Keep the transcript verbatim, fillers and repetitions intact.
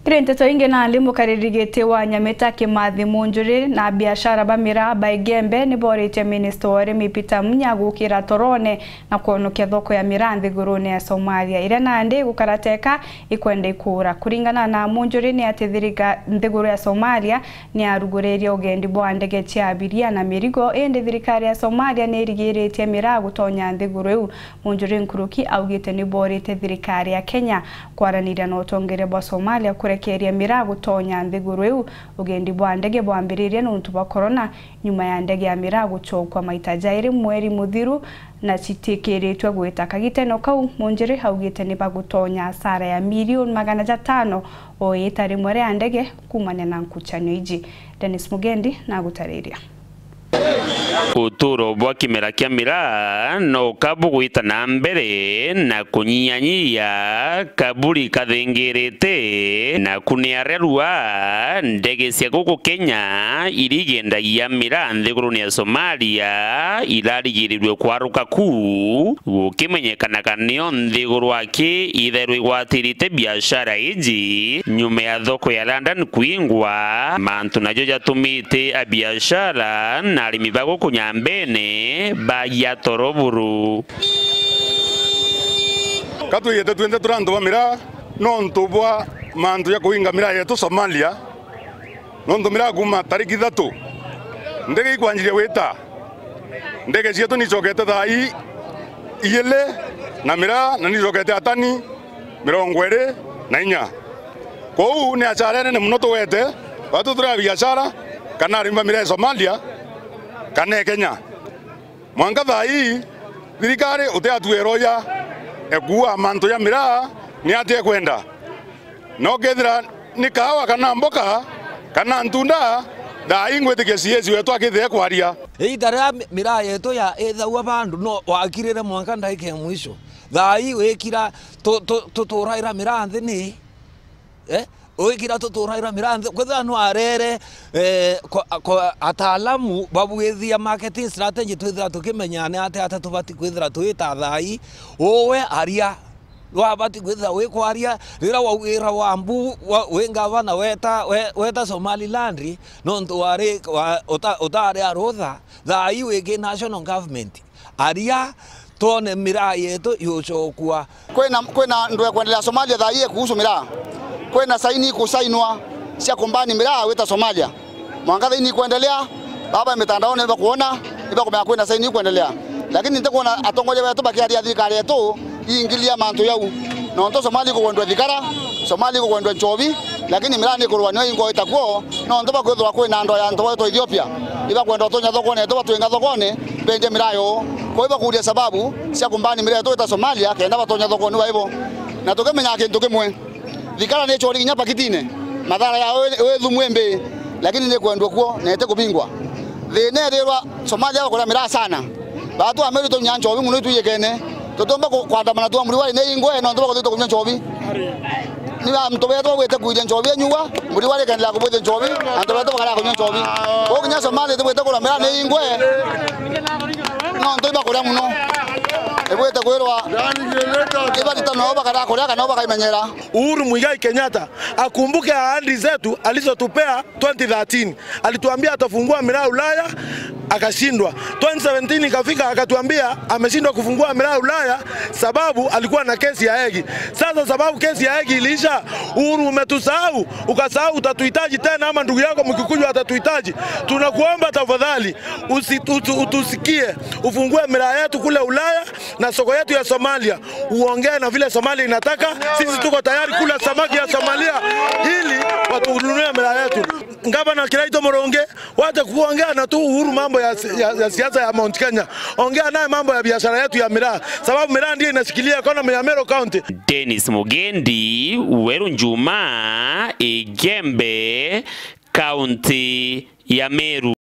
Kiri nteto ingi, nandi mukariri giti wa Nyamita Kimathi Munjuri na biashara ba miraa ba Igembe ni boritie minista wa urimi Peter Munya gukira torone na kwonokia thoko ya miraa nthigurune ya Somalia, iria nandi igukara teka ikwenda ikuura. Kuringana na Munjuri ni ati thirika-, nthiguru ya Somalia ni yaruguririe ugendi bwa ndege cia abiria na mirigo, indi thirikari ya Somalia ni irigiritie miraa gutonya nthiguru iu. Munjuri nkuruki augite ni borite thirikari ya Kenya kwaraniria na utongeria bwa Somalia kurekeria miraa gutonya nthiguru iu. Ugendi bwa ndege bwambiririe nuntu bwa corona, nyuma ya ndege ya miraa gucokua maita jairi mweri muthiru, na citikiritwe gwita kagiteno kau. Munjiri augite ni bagutonya asara ya milioni magana jatano o iita rimwe ria ndege kuumania na nkuchanio iji. Dennis Mugendi nagutariria. Uturo bwa kimera kia miraa no ka bugwita na mbere na kunyiyanyia, kaburi kathingirite, na ku ni aria rua ndege cia guku Kenya irigendagia miraa nthigurune ya Somalia irarigirirue kwaruka ku, gukimenyekanaga nio nthiguru aki ithairwe igwatirite biashara iji nyuma ya thoko ya London kwingwa, mantu najo jatumite abiashara na arimi ba guku Nyambene bagia toro buru. Ka twiyite twinthe turi antu ba miraa nontu bwa mantu ja kuinga miraa yetu Somalia, nontu miraa kuuma tariki ithatu ndege ikwanjiria gwita, ndege cietu nicokete thaa ii ijiri na miraa na nicokete atani mirongo iri na inya. Kwou ni achara nene mono tugwete, batu turi a biashara, kana arimi ba miraa ya Somalia, kana e Kenya. Mwanka thaa ii, thirikari utiatuira uja ekuua mantu ja miraa ni atia ekwenda. No kethira ni kaawa kana mboka, kana ntunda, thaa ii ngwitikia C S wetu akithire kwaria. Iita riria mi-, miraa yetu ya ithaua bandu no wakirire mwanka ndaika ya mwisho. Thaa ii wikira tu-, tu-, tuturaira miraa nthi ni, eh? Wikira tuturaira miraa nthi, kwithira no arere, eh, kwa, kwa ataalamu babwithia marketing strategy, twithira tukimenya ni atia, atia tubati kwithira twita thaa ii. Uwe aria, wabati kwithira wi kwaria, riria waugira wa mbu, wa, wi ngavana weta, we-, weta Somaliland, nontu wari, wa, uta-, utari a rutha, thaa ii wiki national government. Aria twone miraa yetu yucokua. Kwina, kwina ndu ekwendelea Somalia thaa ii kuhusu miraa. Kwina saini ikusainwa cia kumbani miraa wita Somalia. Mwanka thaini ikwendelea, baba mitandaoni nibakuona, nibakumenya kwina saini ikwendelea. Lakini ntikwona atongoria betu bakiaria thirikari yetu iingilia mantu jau. Nontu Somalia ikugwendwa thigara, Somalia ikugwendwa nchobi, lakini miraa ni kurwa nio ingwa itakuo, nontu bakwithirwa kwina andu ya antu baitwa Ethiopia, ibakwenda utunya thokone yetu, batwinga thokone, bendie miraa yoo. Kwou ibakuria sababu cia kumbani miraa yetu ita Somalia, kenda batonya thokone baibo. Na tukimenya kintu kimwe, thigara ni chori kinya pakitine, mathara ya wi-, wi thumu imbi, lakini ni kwendwa kuo na iti kubingwa. Thina ethirwa Somalia bakuria miraa sana. Batu Ameru tunya nchobi mono itwijikene. Tutiumba ku-, kwandamana twa Muriwari ni ingwe, nontu bakuthitwa kunywa nchobi. Ni antu betu bagwite kwiria nchobi enyua, Muriwari ikaendelea kubwithia nchobi, antu betu bakarega kunywa nchobi. Kwou kinya Somalia itibwite kuria miraa ni ingwe, nontu ibakuria mono. Ibwite kwirwa ibatita nao bakarega kuria kana nao bakaimenyera. Uhuru Muigai Kenyatta akumbuke ahadi zetu alizotupea twenty thirteen. Alituambia atafungua miraa Ulaya, akashindwa. Twenty seventeen ikafika, akatuambia ameshindwa kufungua miraa Ulaya sababu alikuwa na kesi ya Hague. Sasa sababu kesi ya Hague iliisha, Uhuru umetusahau, ukasahau utatuhitaji tena ama ndugu yako Mkikuyu atatuhitaji. Tunakuomba tafadhali, usi-, utu-, utusikie, ufungue miraa yetu kule Ulaya na soko yetu ya Somalia. Uongee na vile Somalia inataka, sisi tuko tayari kula samaki ya Somalia ili watununue miraa yetu. Ngavana Kiraitu Murungi, wacha kuongea na tu Uhuru mambo ya si-, ya, ya siasa ya Mount Kenya. Ongea naye mambo ya biashara yetu ya miraa, sababu miraa ndio inashikilia economy ya Meru County. Dennis Mugendi, Weru Njuma, Igembe, County ya Meru.